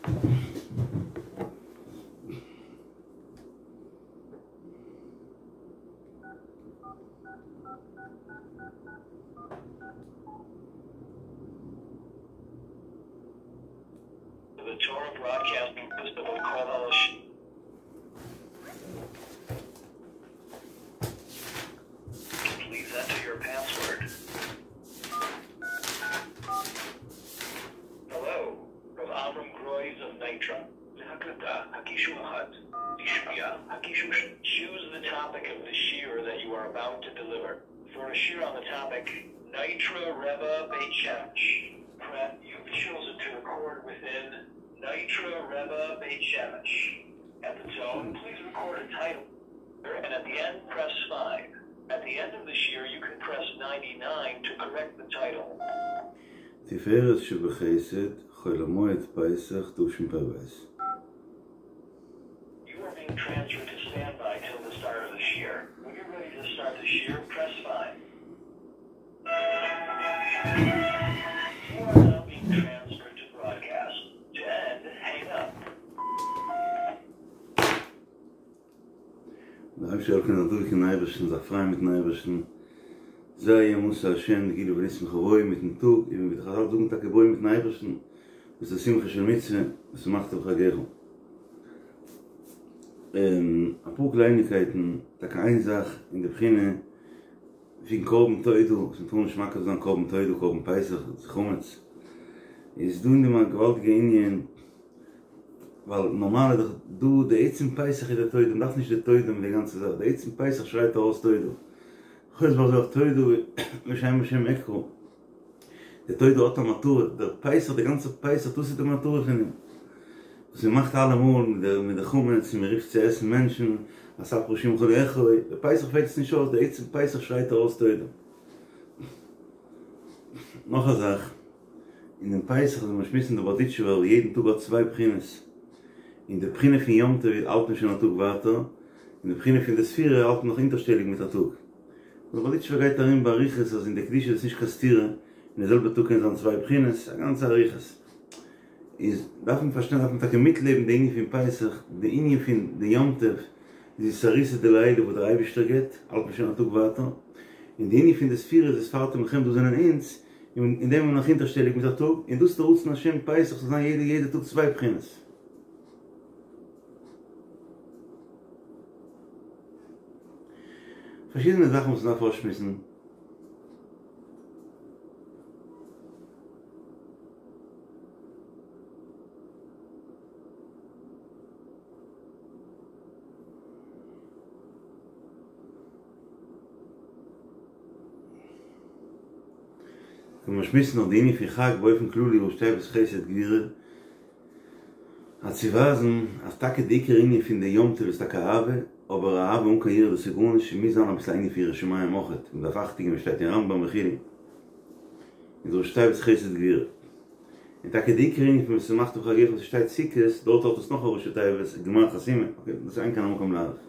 The Torah Broadcasting System of Please enter your password. Hello, Rav Avram Groys of Nitra. Choose the topic of the shiur that you are about to deliver. For a shiur on the topic, Nitra Rebbe Beit Shemesh. You've chosen to record within Nitra Rebbe Beit Shemesh. At the tone, please record a title, and at the end, press 5. At the end of the shiur, you can press 99 to correct the title. תפארת שבחסד, חול המועד פסח תשפ"ב. You are being transferred to standby till the start of the shiur. When you're ready to start the shiur, press 5. You are now being transferred to broadcast. To end, hang up. דער אייבערשטער זאל קענען דורך אין אייבערשטן, זיך פרייען מיטן אייבערשטן, זה יהיה מושא השם, כאילו ונשמחה בו מיטן טאג, און ווי די חזל זאגן טאקע בו מיטן אייבערשטן, דאס איז שמחה של מצוה, ושמחת בחגך. אפאר קלייניקייטן, טאקע איין זאך אין די בחינה פון קרבן תודה, וואס מ'טאר נישט מקריב זיין קרבן תודה, קרבן פסח, דאס איז חמץ, איז דא אין דעם א געוואלדיגע ענין, ווייל נארמאל איז דאך דא די עצם פסח איז די תודה, מ'דארף נישט די תודה מיט די גאנצע זאך, די עצם פסח שרייט ארויס תודה. חוץ מזה אויך תודה בשם השם אקרא. די תודה האט א מטרה, דער פסח, די גאנצע פסח, דאס איז די מטרה פון אים. וואס מ'מאכט אלעמאל מיט די מיט די חמץ און מ'רופט צו עסן מענטשן, אספרה שמך לאכול, די פסח פעלט עס נישט אויס, די עצם פסח שרייט ארויס תודה. נאך א זאך. אין דעם פסח איז מען שמועסן די בארדיטשובער יעדן טאג האט צוויי בחינות, און די בחינה פון יום טוב האלט מען שוין א טאג ווייטער, און די בחינה פון די ספירה האלט מען נאך אונטערשטעליג מיט א טאג. דער בארדיטשובער גייט ארום באריכות אז אין די קדושה איז נישט קיין סתירה, אין די זעלבע טאג קען זיין צוויי בחינות, א גאנצע אריכות. איז דארף מען פארשטיין דארף מען טאקע מיטלעבן די ענין פון פסח, די ענין פון די יום טוב איז אתערותא דלעילא וואס דער אייבערשטער גיבט, האלט מען שוין א טאג ווייטער, און די ענין פון די ספירה איז וספרתם לכם דאס זענען אונז, און אין דעם איז מען נאך הינטערשטעליג מיט א טאג, און דאס איז דער רצון השם פסח זאל זיין יעדע יעדע טאג צוויי בחינות. פארשידענע זאכן וואס מ'דארף אויסשמועסן. ווען מיר שמועסן נאך די ענין פון חג באופן כללי ראשי תיבות חסד גבורה, אז צו ווייזן אז טאקע די עיקר ענין פון די יום טוב איז טאקע אהבה, אבער אהבה אן קיין יראה דאס איז גארנישט, ס'מוז זיין אביסל א ענין פון יראת שמים אויכעט, מען דארף אכטונג געבן ווי שטייט אין רמב"ם וכו', איז ראשי תיבות חסד גבורה. און טאקע די עיקר ענין פון ושמחת בחגך וואס ס'שטייט סוכות, דארט האט עס נאך א ראשי תיבות גמר חתימה, אקעי, דאס איז אין כאן המקום להאריך.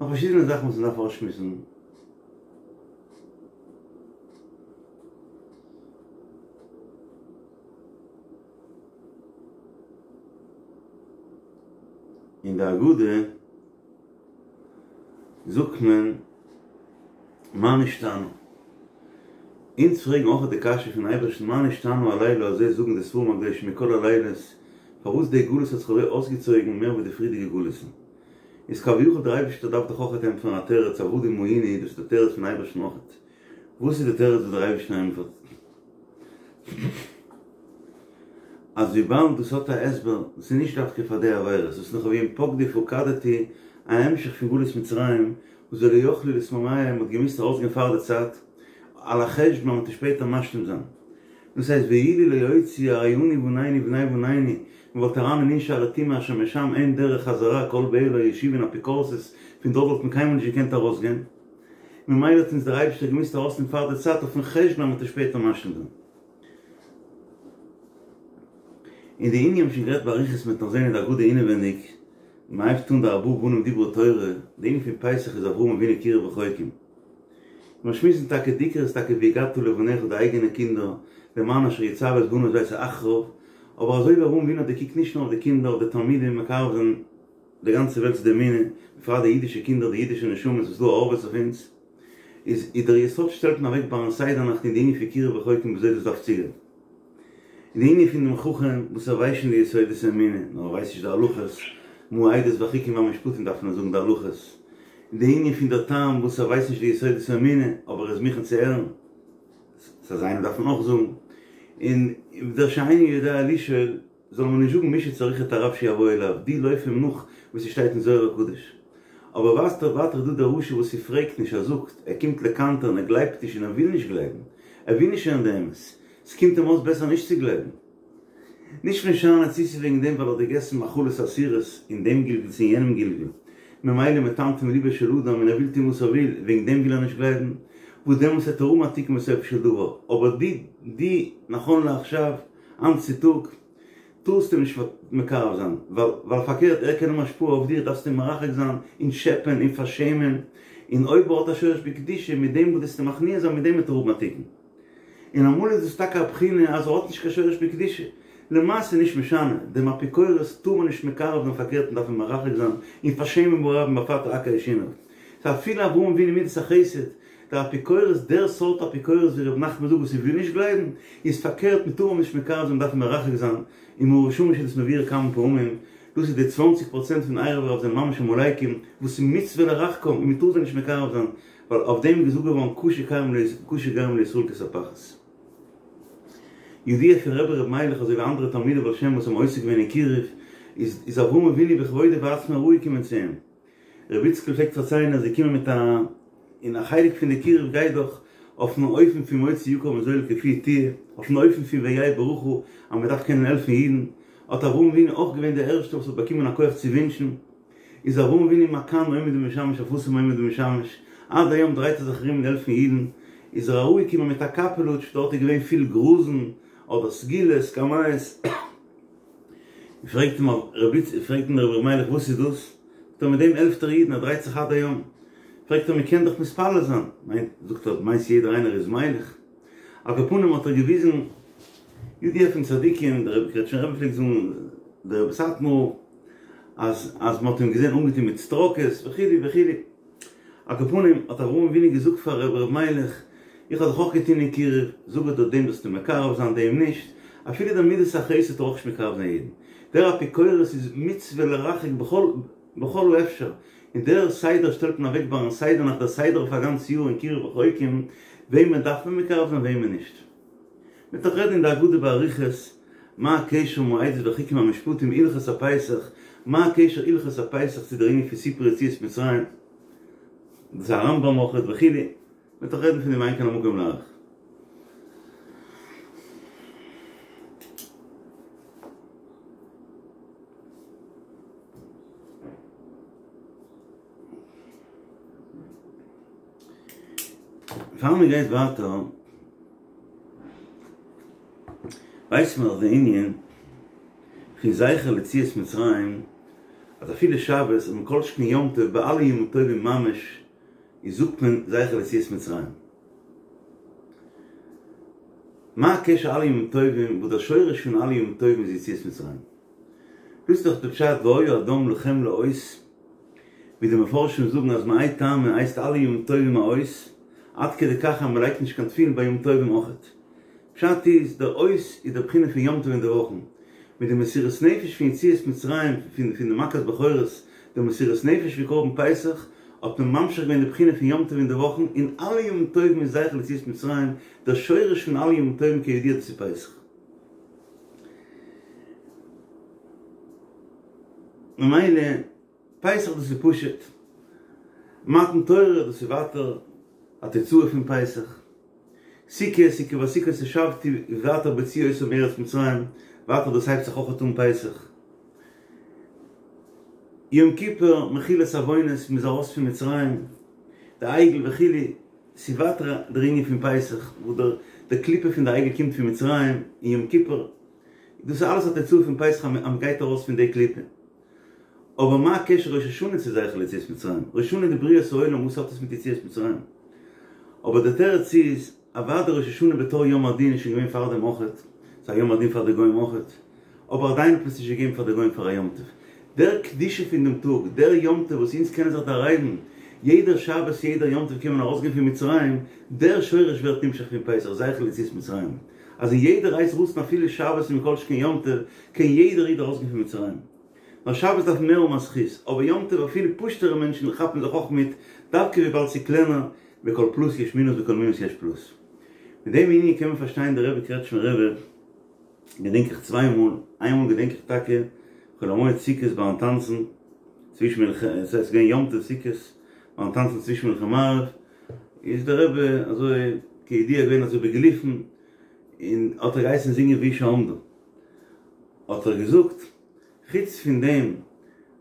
נאך פארשידענע זאכן וואס מ'דארף אויסשמועסן. אין די הגדה זאגט מען מה נשתנה. אונז פרעגן אויך די קשיא פון אייבערשטן מה נשתנה הלילה הזה זאגן די ספרים הקדושים מכל הלילות פארוואס די גלות האט זיך אזוי אויסגעצויגן מער ווי די פריערדיגע גלות'ן. איז כביכול דער אייבערשטער דארף דאך אויכעט ענטפערן א תירוץ עבדים היינו דאס איז די תירוץ פון אייבערשטן אויכעט. וואס איז די תירוץ וואס דער אייבערשטער ענטפערט? אז וויבאלד דאס האט א הסבר, דאס איז נישט דווקא פאר די עבירות, דאס איז נאך ווי אין פקדי פקדתי א המשך פון גלות מצרים, וואס ולא יכלו להתמהמה מ'האט געמוזט ארויסגיין פאר די צייט, על החשבון אז מ'וועט שפעטער משלים זיין. דאס הייסט ואילו לא הוציאו הרי אנו ובנינו ובני בנינו, מ'וואלט אריין אין נ' שערי טומאה אשר משם אין דרך חזרה כל באיה לא ישובון אפיקורסות, פון דארט וואלט מען קיינמאל נישט געקענט ארויסגיין. ממילא האט אונז דער אייבערשטער געמוזט ארויסנעמען פאר די צייט אויפן חשבון אז מ'וועט עס שפעטער משלים זיין. און די ענין האבן שוין גערעדט באריכות מ'וועט נאך זען אין די הגדה אינעווענדיג, מ'הייבט אן די ארבעה בנים דיברה תורה, די ענין פון פסח איז אברהם אבינו קירב רחוקים. מיר שמועסן טאקע די עיקר איז טאקע והגדת לבניך די אייגענע קינדער, למען אשר יצוה את בניו ואת ביתו אחריו, אבער אזוי ווי אברהם אבינו האט געקוקט נישט נאר אויף די קינדער, אויף די תלמידים, מקרב זיין די גאנצע וועלט צו די אמונה, בפרט די אידישע קינדער, די אידישע נשמות וואס דא הארעוועט אויף אונז, איז איז דער יסוד שטעלט מען אוועק ביים סדר נאכט אין די ענין פון קירוב רחוקים וויאזוי דאס דארף צוגיין. און די ענין פון דעם חכם וואס ער ווייסט שוין די יסודות האמונה, נאר ער ווייסט נישט די הלכות, מה העדות והחוקים והמשפטים דארף מען זאגן די הלכות. און די ענין פון דער תם וואס ער ווייסט נישט די יסודות האמונה, אבער ער איז מוכן צו הערן, ס'איז אזא איינער דארף מען אויך זאגן. און דער שאינו יודע לשאול זאל מען נישט זאגן מי שצריך את הרב שיבוא אליו, דו לויף אים נאך ווי ס'שטייט אין זוהר הקדוש. אבער ווייטער ווייטער איז דא דער רשע וואס ס'פרעגט נישט, ער זאגט, ער קומט לקנטר'ן, ער גלייבט נישט און ער וויל נישט גלייבן, ער וויל נישט הערן די אמת, ס'קומט אים אויס בעסער נישט צו גלייבן. נישט משנה צי ס'איז וועגן דעם ווייל ער האט געגעסן מאכלות אסורות אין דעם גלגול צו אין יענעם גלגול, ממילא מטמטם ליבו של אדם און ער וויל טון וואס ער וויל, וועגן דעם וויל ער נישט גלייבן, וואס דעמאלס וועט ער האבן א תיקון בסופו של דבר, אבער די די נכון לעכשיו, היינט צו טאג, טארסטו אים נישט מקרב זיין, ווייל ווייל פארקערט ער קען האבן השפעה אויף דיר, דארפסטו אים מרחק זיין און טשעפען און פארשעמען, און אויב ער האט א שורש בקדושה, מיט דעם וואס דו וועסט אים מכניע זיין מיט דעם וועט ער האבן א תיקון. און אמאל איז דאס טאקע א בחינה אז ער האט נישט קיין שורש בקדושה. למעשה נישט משנה, דעם אפיקורס טאר מען נישט מקרב זיין פארקערט מען דארף אים מרחק זיין און פארשעמען ברבים בעפאר תעקר שיניו. סא אפילו אברהם אבינו מידת החסד, דער אפיקורס, דער סארט אפיקורס ווי ר' נחמן זאגט וואס ער וויל נישט גלייבן, איז פארקערט מען טאר אים נישט מקרב זיין מען דארף אים מרחק זיין, און מאור ושמש איז דאס מבאר כמה פעמים, דאס איז די צוואנציג פראצענט פון ערב רב זענען ממש עמלקים וואס איז מצוה לרחקם און מען טאר זיי נישט מקרב זיין, ווייל אויף דעם איז געזאגט געווארן קשה גרים לישראל כספחת. ידוע פון רבי ר' מיילעך אזוי ווי אנדערע תלמידי בעל שם וואס האבן עוסק געווען אין קירוב, איז איז אברהם אבינו בכבודו ובעצמו אראפגעקומען צו אים. רבי איציקל פלעגט פארציילן אז ער איז געקומען מיט א, און א חלק פון די קירוב גייט דאך אויפן אופן פון מוציא יקר מזול כפי תהיה, אויפן אופן פון והיה ברכה אז מען דארף קענען העלפן אידן, האט אברהם אבינו אויך געווען דער ערשטער וואס האט באקומען א כח צו ווינטשן. איז אברהם אבינו מכאן עומד ומשמש אף התם עומד ומשמש, עד היום דרייט ער זיך ארום און העלפן אידן, איז ער אראפגעקומען מיט א קאפעלוטש, דארט איז געווען פיל גראזן, אדער סגולות, קמיות, פרעגט אים רבי פרעגט אים רבי מיילעך וואס איז דאס? זאגט ער מיט דעם העלפט ער אידן, ער דרייט זיך עד היום, פרעגט ער מען קען דאך מתפלל זיין, מיינט זאגט ער מיינסט יעדער איינער איז מיילעך? על כל פנים האט ער געוויזן ידוע פון צדיקים, דער קרעטשניפער רבי פלעגט זאגן דער רבי סאטמאר, אז אז מ'האט אים געזען אנגעטון מיט סטראקעס וכו' וכו'. על כל פנים האט אברהם אבינו געזאגט פאר רבי ר' מיילעך, איך האב זיך אויך געטון אין קירוב, זאג איך דיר דעם זאלסטו מקרב זיין דעם נישט, אפילו דער מידת החסד טאר אויך נישט מקרב זיין יעדן. דער אפיקורס איז מצוה לרחק בכל בכל האפשר, און דער סדר שטעלט מען אוועק ביים סדר נאכט דער סדר אויף א גאנץ יאר אין קירוב רחוקים, וועמען דארף מען מקרב זיין וועמען נישט. מ'וועט דאך רעדן אין די הגדה באריכות, מה הקשר מה העדות והחוקים והמשפטים הלכות הפסח, מה הקשר הלכות הפסח צו דער ענין פון סיפור יציאת מצרים, דאס איז א רמב"ם אויכעט וכו', מ'וועט דאך רעדן פון דעם אין כאן המקום להאריך. פאר מען גייט ווייטער, ווייסט מען דאך די ענין פון זכר ליציאת מצרים, אז אפילו שבת און מכל שכן יום טוב ביי אלע ימים טובים ממש איז זאגט מען זכר ליציאת מצרים. מה הקשר אלע ימים טובים וואס דער שורש פון אלע ימים טובים איז יציאת מצרים? דאס איז דאך די פשט והיה הדם לכם לאות, ווי די מפרשים זאגן אז מהאי טעמא הייסט אלע ימים טובים א אות, עד כדי כך אז מ'לייגט נישט קיין תפילין ביי ימים טובים אויכעט. פשט איז, דער אות איז דער בחינה פון יום טוב אין די וואכן, מיט די מסירות נפש פון יציאת מצרים פון פון די מכת בכורות, די מסירות נפש פון קרבן פסח, האט מען ממשיך געווען די בחינה פון יום טוב אין די וואכן, און אלע ימים טובים איז זכר ליציאת מצרים, דער שורש פון אלע ימים טובים כידוע דאס איז פסח. ממילא פסח דאס איז פשוט, מתן תורה דאס איז ווייטער א תוצאה פון פסח, סוכות כי בסוכות הושבתי ווייטער בהוציאי אותם מארץ מצרים, ווייטער דאס הייבט זיך אויכעט אן פסח, יום כיפור מחילת עוונות מ'איז ארויס פון מצרים, די עגל וכו', ס'איז ווייטער דער ענין פון פסח וואס דער די קליפה פון די עגל קומט פון מצרים און יום כיפור, דאס איז אלעס א תוצאה פון פסח אז מ'גייט ארויס פון די קליפה. אבער מה הקשר ראש השנה צו זכר ליציאת מצרים? ראש השנה איז די בריאת העולם, וואס האט עס מיט יציאת מצרים? אבער דער תירוץ איז, אוודאי ראש השנה בתור יום הדין איז שוין געווען פאר דעם אויכעט, ס'איז א יום הדין פאר די גוים אויכעט. אבער עדיין האט מען עס נישט געגעבן פאר די גוים פאר א יום טוב. דער קדושה פון דעם טאג, דער יום טוב וואס אונז קענען זיך דערהייבן, יעדער שבת יעדער יום טוב קען מען ארויסגיין פון מצרים, דער שורש ווערט נמשך פון פסח, זכר ליציאת מצרים. אז אין יעדער עת רצון אפילו שבת און מכל שכן יום טוב, קען יעדער איד ארויסגיין פון מצרים. נאר שבת דארף מער האבן א זכות, אבער יום טוב אפילו פשוט'ערע מענטשן כאפן זיך אויך מיט, דווקא וויבאלד ס'איז קלענער, בכל פלוס יש מינוס בכל מינוס יש פלוס. מיט דעם ענין קען מען פארשטיין די רבי קרעטשמער רבי געדענק איך צוויי מאל, איין מאל געדענק איך טאקע חול המועד סוכות ביים טאנצן צווישן מנחה, עס איז געווען יום טוב סוכות, ביים טאנצן צווישן מנחה מעריב, איז דער רבי אזוי כידוע געווען אזוי בגילופין, און האט ער געהייסן זינגען והיא שעמדה, האט ער געזאגט, חוץ פון דעם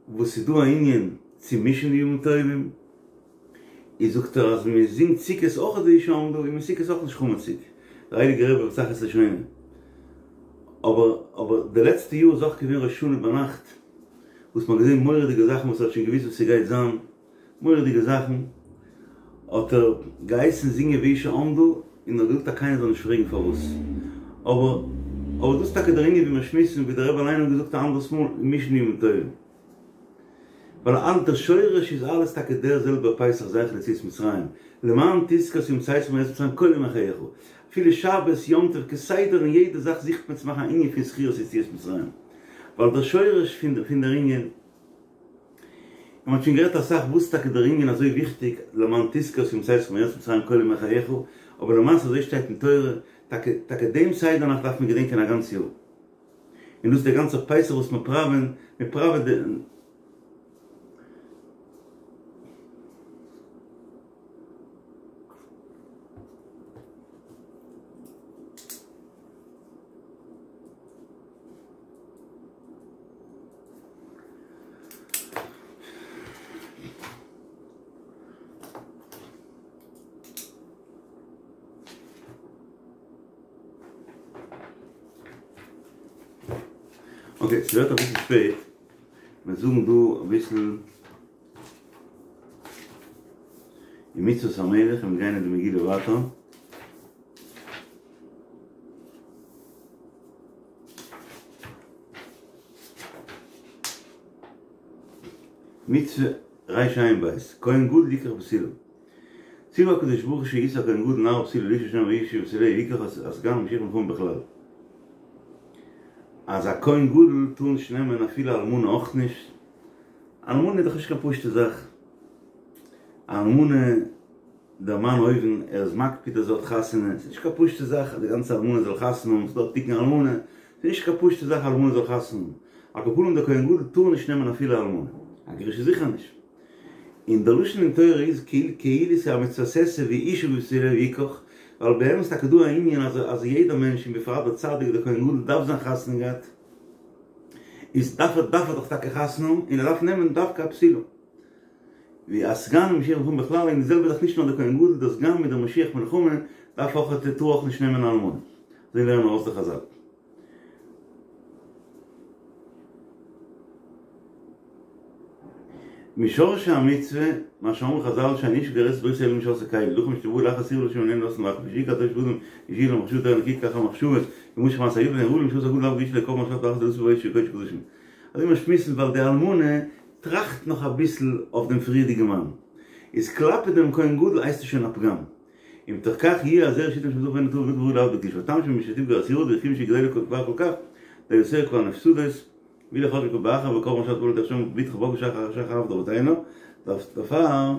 וואס ס'איז דא א ענין צו מישן די ימים טובים, איז זאגט ער אז מען זינגט סוכות אויך והיא שעמדה איז מען סוכות אויך נישט חמציג, דער הייליגער רבי בתחת לשונו. אבער אבער די לעצטע יאר איז אויך געווען ראש השנה ביינאכט וואס מען האט געזען מורא'דיגע זאכן וואס ער האט שוין געוואוסט וואס ס'גייט זיין, מורא'דיגע זאכן, האט ער געהייסן זינגען והיא שעמדה, און האט געזאגט אז קיינער זאל נישט פרעגן פארוואס. אבער אבער דאס איז טאקע דער ענין ווי מיר שמועסן, ווי דער רבי אליין האט געזאגט א אנדערס מאל, מישן ימים טובים. ווייל אלע דער שורש איז אלעס טאקע דער זעלבער פסח זכר ליציאת מצרים, למען תזכור את יום צאתך מארץ מצרים כל ימי חייך, אפילו שבת, יום טוב, כסדר אין יעדע זאך זוכט מען צו מאכן א ענין פון זכירת יציאת מצרים, ווייל דער שורש פון פון דער ענין. און מ'האט שוין גערעדט אסאך וואס טאקע דער ענין אזוי וויכטיג למען תזכור את יום צאתך מארץ מצרים כל ימי חייך, אבער למעשה אזוי שטייט אין תורה, טאקע טאקע דעם סדר נאכט דארף מען געדענקען א גאנץ יאר. און דאס איז דער גאנצער פסח וואס מיר פראווען, מיר פראווען די. אקעי, ס'ווערט אביסל שפעט, מיר זאגן דא אביסל אין מצוות המלך און מיר גייען אין די מגילה ווייטער. מצוה רע"ב, כהן גדול יקח בתולה. ציוה הקדוש ברוך הוא שישא הכהן גדול נערה בתולה לאשה שנאמר ואיש אשה בתוליה יקח הסגן ומשיח מלחמה בכלל. אז א כהן גדול טאר נישט נעמען אפילו אלמנה אויך נישט. אלמנה איז דאך נישט קיין פשוטע זאך. א אלמנה. דער מאן אויבן, ער איז מקפיד אז זי האט חתונה, ס'איז נישט קיין פשוטע זאך אז די גאנצע אלמנה זאל חתונה האבן, ס'איז דא א תיקון אלמנה, ס'איז נישט קיין פשוטע זאך אלמנה זאל חתונה האבן, על כל פנים דער כהן גדול טאר נישט נעמען אפילו אלמנה, א גרושה זיכער נישט. און דער לשון אין תורה איז כאילו ס'איז א מצוות עשה ואשה בבתוליה יקח, ווייל באמת איז טאקע דא א ענין אז אז יעדער מענטש און בפרט דער צדיק דער כהן גדול דארף זיין חתונה געהאט, איז דארף ער דארף ער דאך טאקע חתונה האבן און ער דארף נעמען דווקא א בתולה. ווי א סגן ומשיח מלחמה בכלל און די זעלבע זאך נישט נאר דער כהן גדול דער סגן מיט דער משיח מלחמה דארף אויך טאר אויך נישט נעמען אלמנה אזוי לערנען ארויס די חזל. משורשי המצוה, מה שאמרו חזל שאין אשה כורת ברית אלא עם שעשאה כלי, לכן משתבא לאחר שעירבה לשם איננו נותנין לאחר לפי שעיקר הטוב שבאדם איז שיהיה לו מחשבה טהורה ונקיה כך המחשבה ימשך מעשה היפה ואין ראוי למשפט הגדול לאו גרושה לקרבן השבת ואחר דלתו בו של קודש קדשים. אזוי מיר שמועסן ווייל די אלמנה טראכט נאך אביסל אויף דעם פריערדיגן מאן, איז כלפי דעם כהן גדול הייסט עס שוין א פגם, ומתוך כך יהיה הזרע שיתן לשם זכר ואינו טהור ובלתי ראוי לעבוד בקדושה, והטעם שמשתפגע אסירות וכיוון שגדולה כבר כל כך, דיותיה כבר נפסדות, ואילו חשבו באחר וקרבן השבת בא לידי שם בתך בגר שחר שחר עבד אבותינו, דערפאר.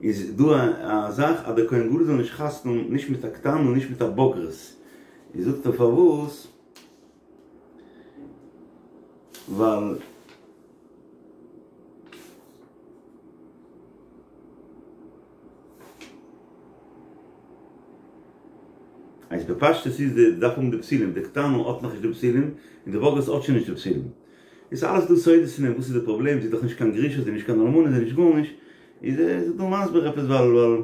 איז דא א זאך אז דער כהן גדול זאל נישט חתונה האבן נישט מיט א קטנה און נישט מיט א בוגרת, איז זאגט ער פארוואס, ווייל אז בפשטות איז די דארף האבן די בתולים, די קטנה האט נאכנישט די בתולים און די בוגרת האט שוין נישט די בתולים. איז אלעס דא סודות אין דעם, וואס איז די פראבלעם, זי איז דאך נישט קיין גרושה, זי איז נישט קיין אלמנה, זי איז נישט גארנישט, איז ער דא מסביר עפעס ווייל ווייל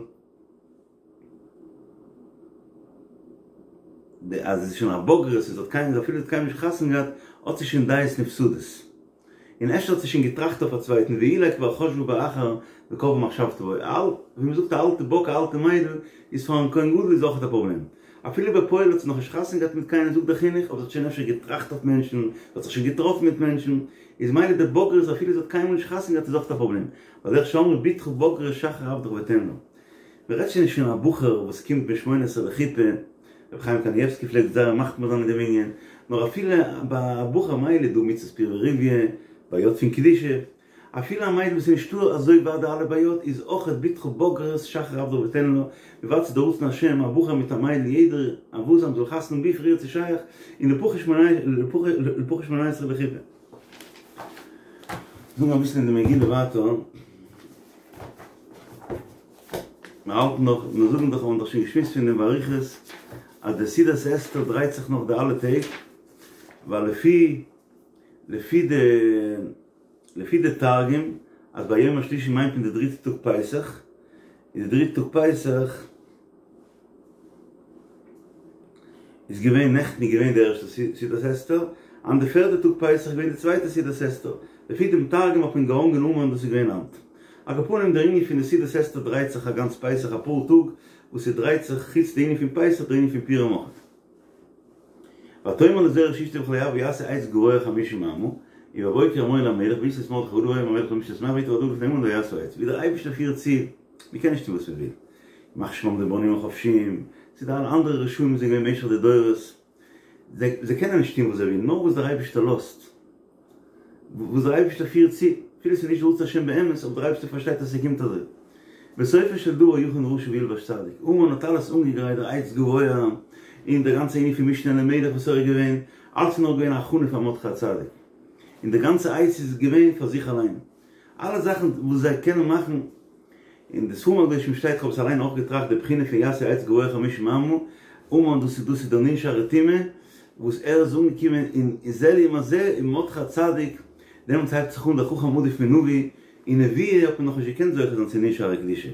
די אז זי איז שוין א בוגרת און זי האט קיין אפילו זי האט קיינמאל נישט חתונה געהאט האט זי שוין דעות נפסדות און אפשר האט זי שוין געטראכט אויף א צווייטן ואולי כבר חשבה באחר. וקבעה מחשבתו בו, ווי מען זאגט א אלטע באק א אלטע מיידל איז פארן כהן גדול איז אויכעט א פראבלעם, אפילו בפועל האט זי נאכנישט חתונה געהאט מיט קיינעם זאגט דער חינוך אבער זי האט שוין אפשר געטראכט אויף מענטשן, זי האט זיך שוין געטראפן מיט מענטשן, איז מילא די בגרות אפילו זי האט קיינמאל נישט חתונה געהאט איז אויכעט א פראבלעם, ועל דרך שאמרו בתך בוגרת שחרר עבדך ותן לה. מען רעדט שוין נישט פון א בחור וואס קומט בן שמונה עשרה לחופה, רבי חיים קנייבסקי פלעגט זייער מחמיר זיין אין דעם ענין, נאר אפילו ביי א בחור מילא איז דא מצות פריה ורביה, בעיות פון קדושה, אפילו א מיידל וואס איז נישטא אזוי ווייט די אלע בעיות איז אויכעט בתך בוגרת שחרר עבדך ותן לה, מ'ווארט צו די רצון השם א בחור מיט א מיידל יעדער א וואס אז מ'זאל חתונה האבן ווי פריער ס'איז שייך און לפחות שמונה עשרה לחופה. זאגן אביסל אין די מגילה ווייטער. מיר האלטן נאך, מיר זאגן דאך, האבן דאך שוין געשמועסט פון דעם באריכות, אז די סעודת אסתר דרייט זיך נאך די אלע טעג, ווייל לפי לפי די לפי די תרגום אז ביום השלישי מיינט מען די דריטע טאג פסח, איז די דריטע טאג פסח איז געווען נעכטן איז געווען די ערשטע סעודת אסתר, היינט די פערדע טאג פסח איז געווען די צווייטע סעודת אסתר, לפי דעם תרגום האט מען געהאנגען המן דאס איז געווען היינט. על כל פנים דער ענין פון די סעודת אסתר דרייט זיך א גאנץ פסח אפאר טאג וואס ס'דרייט זיך חוץ די ענין פון פסח דער ענין פון פורים אויכעט. ותאמר לזרש אשתו וכל אוהביה יעשו עץ גבוה חמישים אמה, ובבוקר אמור אל המלך ויתלו את מרדכי עליו ויאמר המלך למשתה שמח ויטב הדבר לפני המן ויעשו העץ, ווי דער אייבערשטער פירט צו, מען קען נישט טון וואס מען וויל, ימח שמם די בונים החפשיים, צו די אלע אנדערע רשעים וואס זענען געווען במשך די דורות, זיי זיי קענען נישט טון וואס זיי ווילן, נאר וואס דער אייבערשטער לאזט, וואס דער אייבערשטער פירט צו, אפילו ס'איז נישט רצון השם באמת, אבער דער אייבערשטער פארשטייט אז ס'קומט אזוי. בסופו של דבר יכין רשע וילבש צדיק, המן האט אלעס אנגעגרייט, דער עץ גבוה, און דער גאנצע ענין פון משנה למלך וואס ער איז געווען, אלעס איז נאר געווען א הכנה פאר מרדכי הצדיק, און די גאנצע עץ איז געווען פאר זיך אליין. אלע זאכן וואס זיי קענען מאכן, אין די ספרים הקדושים שטייט, כ'האב עס אליין אויך געטראכט, די בחינה פון יעשו עץ גבוה חמישים אמה, המן דאס איז דאס איז דער נ' שערי טומאה, וואס ער איז אנגעקומען אין זה לעומת זה, און מרדכי הצדיק, דעמאלטס הייבט זיך אן דער חכם עדיף מנביא, אין נביאה האט מען נאכנישט געקענט זוכה זיין צו נ' שערי קדושה,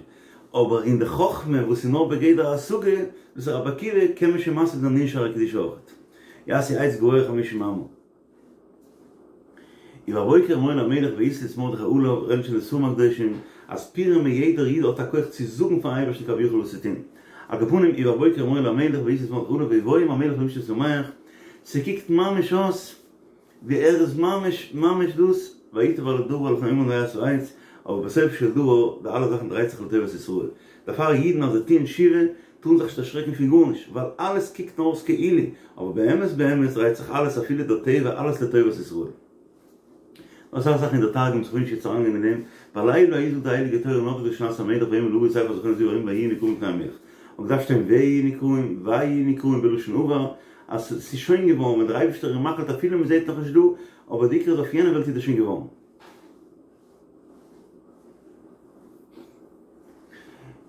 אבער אין די חכמה וואס איז נאר בגדר השגה, דאס איז רבי עקיבא, קען מען שוין משיג זיין נ' שערי קדושה אויכעט. יעשו עץ גבוה חמישים אמה. ובבוקר אמור אל המלך ויתלו את מרדכי עליו, רעדן שוין די ספרים הקדושים, אז פורים איז יעדער איד האט א כח צו זאגן פארן אייבערשטן כביכול וואס צו טון. על כל פנים, ובבוקר אמור אל המלך ויתלו את מרדכי עליו ויבוא עם המלך למשתה שמח, ס'קוקט ממש אויס ווי ער איז ממש ממש דאס, וייטב הדבר לפני המן ויעשו העץ, אבער בסופו של דבר די אלע זאכן דרייט זיך לטובת ישראל. דערפאר אידן אז זיי טוען תשובה טארן זיך נישט דערשרעקן פון גארנישט, ווייל אלעס קוקט נאר אויס כאילו, אבער באמת באמת דרייט זיך אלעס אפילו דער טבע אלעס לטובת ישראל. נאך אסאך זאכן אין דער תרגום כ'וויל נישט יעצט אריינגיין אין דעם, בלילה ההוא זאגט די הייליגע תורה נדדה שנת המלך ויאמר להביא את ספר הזכרונות לדברים ויהיו נקראים לפני המלך. האט געדארפט שטיין ויהיו נקראים, ויהיו נקראים בלשון עבר, אז ס'איז שוין געווארן ווען דער אייבערשטער איז מחליט אפילו מ'זעט נאכנישט דא, אבער די עיקר איז אויף יענע וועלט איז דאס שוין געווארן.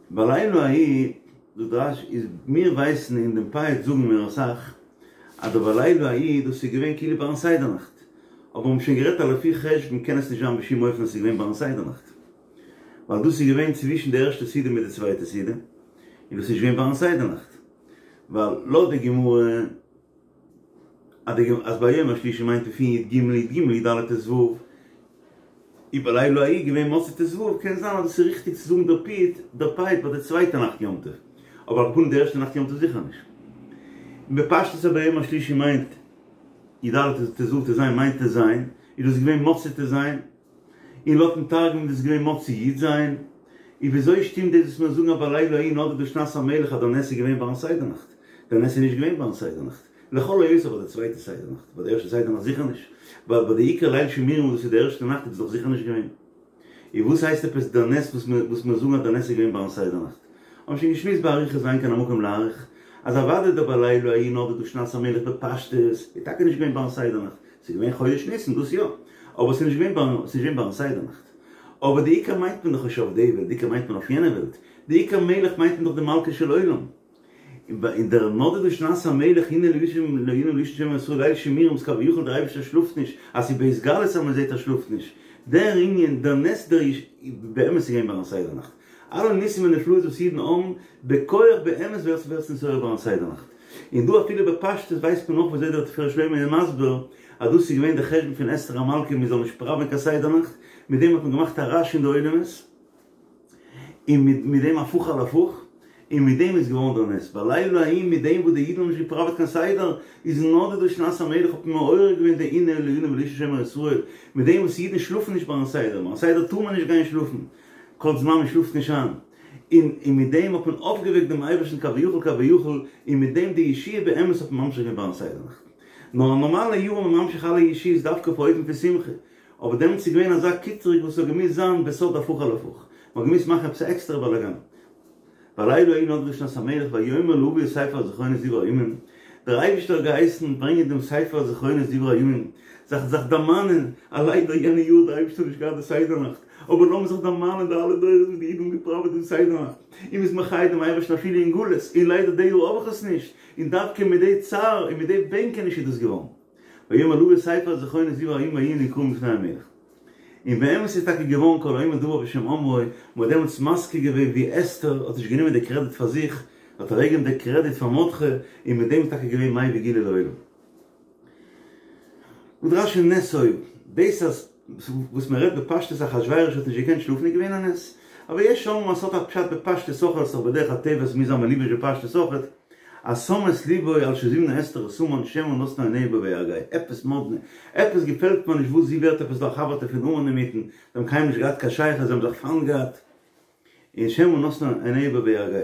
בלילה ההוא, זאגט רש"י, איז מיר ווייסן אין דעם פיוט זאגן מיר אסאך, אז דער בלילה ההוא דאס איז געווען כאילו ביים סדר נאכט, אבער מיר האבן שוין גערעדט אז לפי חשבון קען עס נישט זיין בשום אופן אז עס איז געווען ביים סדר נאכט, ווייל דאס איז געווען צווישן די ערשטע סעודה מיט די צווייטע סעודה, און דאס איז נישט געווען ביים סדר נאכט, ווייל לויט די גמרא. אז ביום השלישי מיינט מען פון י"ג י"ג י"ד ט"ו, ובלילה ההוא געווען מוצאי ט"ו, קען זיין אז דאס איז ריכטיג צו זאגן דער פיוט דער פיוט ביי די צווייטע נאכט יום טוב, אבער על כל פנים די ערשטע נאכט יום טוב זיכער נישט. און בפשטות אז ביום השלישי מיינט י"ד ט"ו ט"ז מיינט ט"ז, איז דאס געווען מוצאי ט"ז, און לויטן תרגום איז דאס געווען מוצאי י"ז, און וויאזוי שטימט דאס וואס מיר זאגן אז בלילה ההוא נדדה שנת המלך אז דער נס איז געווען ביים סדר נאכט? דער נס איז נישט געווען ביים סדר נאכט, לכל היותר ביי די צווייטע סדר נאכט, ביי די ערשטע סדר נאכט זיכער נישט, ווייל ביי די עיקר ליל שימורים וואס דאס איז די ערשטע נאכט איז דאס דאך זיכער נישט געווען. און וואס הייסט עפעס דער נס וואס מיר וואס מיר זאגן אז דער נס איז געווען ביים סדר נאכט? האבן שוין געשמועסט באריכות ואין כאן המקום להאריך, אז אוודאי דער בלילה ההוא נדדה שנת המלך בפשטות איז טאקע נישט געווען ביים סדר נאכט, ס'איז געווען חודש ניסן, דאס יא. אבער ס'איז נישט געווען ביים, ס'איז נישט געווען ביים סדר נאכט. אבער די עיקר מיינט מען דאך נישט אויף די וועלט, די עיקר מיינט מען אויף יענע וועלט. די עיקר מלך מיינט מען דאך די מלכו של עולם. און דער נדדה שנת המלך הנה לישן הנה לישן שומר ישראל ליל שימורים איז כביכול דער אייבערשטער שלאפט נישט, אז ס'איז בהתגלות אז מ'זעט ער שלאפט נישט. דער ענין, דער נס דער איז באמת געווען ביים סדר נאכט. אלע ניסים ונפלאות וואס אידן האבן בכח באמת ווערט ווערט נתעורר ביים סדר נאכט. און דא אפילו בפשטות ווייסט מען נאך וויאזוי דער תפארת שלמה איז מסביר אז דאס איז געווען די חשבון פון אסתר המלכה מען זאל נישט פראווען קיין סדר נאכט, מיט דעם האט מען געמאכט א רעש אין די עולמות. און מיט דעם הפוך על הפוך, און מיט דעם איז געווארן דער נס, בלילה ההוא מיט דעם וואס די אידן האבן נישט געפראוועט קיין סדר, איז נדדה שנת המלך האט מען מעורר געווען די עונה לעונים ולאיש שומר ישראל, מיט דעם וואס אידן שלאפן נישט ביים סדר, ביים סדר טאר מען נישט גיין שלאפן, כל זמן מען שלאפט נישט איין, און און מיט דעם האט מען אויפגעוועקט דעם אייבערשטן כביכול כביכול, און מיט דעם די ישועה באמת האט מען ממשיך געווען ביים סדר נאכט. נאר א נארמאלע יאר איז מען ממשיך אלע ישועות דווקא אויף אופן פון שמחה, אבער דעמאלטס איז געווען אזא קיטרוג וואס האט געמוזט זיין בסוד הפוך על הפוך, מען האט געמוזט מאכן עפעס א עקסטערע באלאגאן. בלילה ההוא נדדה שנת המלך ויאמר להביא את ספר הזכרונות דברי הימים, דער אייבערשטער האט געהייסן ברענגען דעם ספר הזכרונות דברי הימים, זיך זיך דערמאנען, אז ליידער יענע יאר האט דער אייבערשטער נישט געהאט די סדר נאכט, אבער לאמיר זיך דערמאנען די אלע דורות וואס די אידן האבן געפראוועט דעם סדר נאכט, און מ'איז מחיה דעם אייבערשטן אפילו אין גלות, און ליידער די יאר האב איך עס נישט, און דווקא מיט די צער און מיט די בענקעניש איז דאס געווארן. ויאמר להביא את ספר הזכרונות דברי הימים ויהיו נקראים לפני המלך. און באמת איז טאקע געווארן כל האומר דבר בשם אומרו, מען האט דעמאלטס מזכיר געווען ווי אסתר האט נישט גענומען די קרעדיט פאר זיך, האט אוועקגעגעבן די קרעדיט פאר מרדכי, און מיט דעם איז טאקע געווען מביא גאולה לעולם. זאגט רש"י נס היה, דאס אז וואס מען רעדט בפשטות אחשורוש האט נישט געקענט שלאפן איז געווען א נס, אבער יש אומרים אז ס'האט א פשט בפשטות אויך אז ס'איז דאך בדרך הטבע ס'מוז זיין מלובש בפשטות אויך, אז שם את לבו על שזימנה אסתר את המן שמא נתנה עיניה בו והרגהו, עפעס מאדנע, עפעס געפעלט מיר נישט וואס זי ווערט עפעס דא א חבר'טע פון המן אינמיטן, זיי האבן קיינמאל נישט געהאט קיין שייכות זיי האבן זיך פיינט געהאט, און שמא נתנה עיניה בו והרגהו.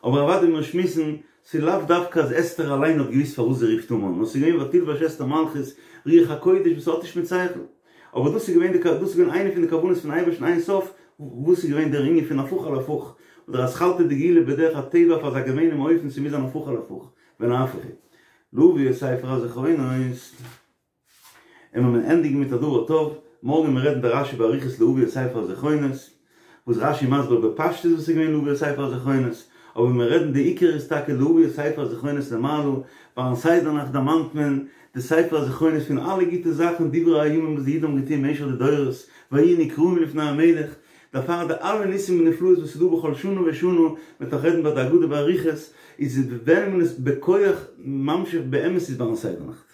אבער אוודאי מיר שמועסן, ס'איז לאו דווקא אז אסתר אליין האט געוואוסט פארוואס זי רופט המן, נאר ס'איז געווען ותלבש אסתר מלכות, רוח הקודש וואס האט נישט מיט שכל. אבער דאס איז געווען די דאס איז געווען איינע פון די כוונות פון אייבערשטן אין סוף, וואס איז געווען דער ענין פון הפוך על הפוך, אדער אתחלתא דגאולה בדרך הטבע אויף אזא געמיינעם אופן ס'מוז זיין הפוך על הפוך, ונהפוך הוא. להביא את ספר הזכרונות. און מיר ענדיגן מיט א דבר טוב, מארגן וועלן מיר רעדן די רש"י באריכות להביא את ספר הזכרונות, וואס רש"י מסביר בפשטות וואס איז געווען להביא את ספר הזכרונות, אבער מיר רעדן די עיקר איז טאקע להביא את ספר הזכרונות למעלה, ביים סדר נאכט דערמאנט מען די ספר הזכרונות פון אלע גוטע זאכן דברי הימים וואס די אידן האבן געטון במשך די דורות, ויהיו נקראים לפני המלך, דערפאר די אלע ניסים ונפלאות וואס איז דא בכל שנה ושנה, מ'וועט נאך רעדן ביי די הגדה באריכות, איז ווען מען איז בכח ממשיך באמת איז ביים סדר נאכט.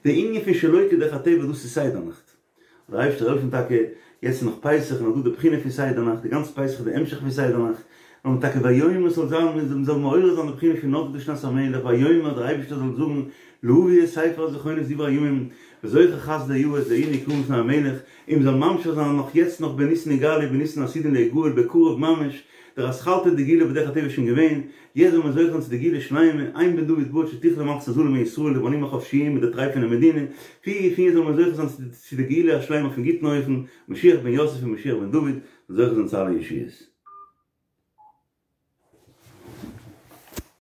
די ענין פון שלא כדרך הטבע דאס איז סדר נאכט. דער אייבערשטער זאל העלפן טאקע, יעצט איז נאך פסח און נאך דא די בחינה פון סדר נאכט, די גאנצע פסח איז די המשך פון סדר נאכט, און טאקע ויאמר ס'זאל זיין מען זאל מעורר זיין די בחינה פון נדדה שנת המלך ויאמר דער אייבערשטער זאל זאגן להביא את ספר הזכרונות דברי הימים וזוכר חסדי אבות ויהיו נקראים לפני המלך, און מען זאל ממשיך זיין נאך יעצט נאך בניסן נגאלו ובניסן עתידין ליגאל בקרוב ממש, דער אתחלתא דגאולה בדרך הטבע איז שוין געווען, יעצט זאל מען זוכה זיין צו די גאולה שלימה, אין בן דוד בא עד שתכלה מלכות הזרים מישראל, די בנים החופשיים מיט די טרייפענע מדינה, פי פי זאל מען זוכה זיין צו די גאולה השלימה אויפן גוטן אופן, משיח בן יוסף און משיח בן דוד, זאל זוכה זיין צו אלע ישועות.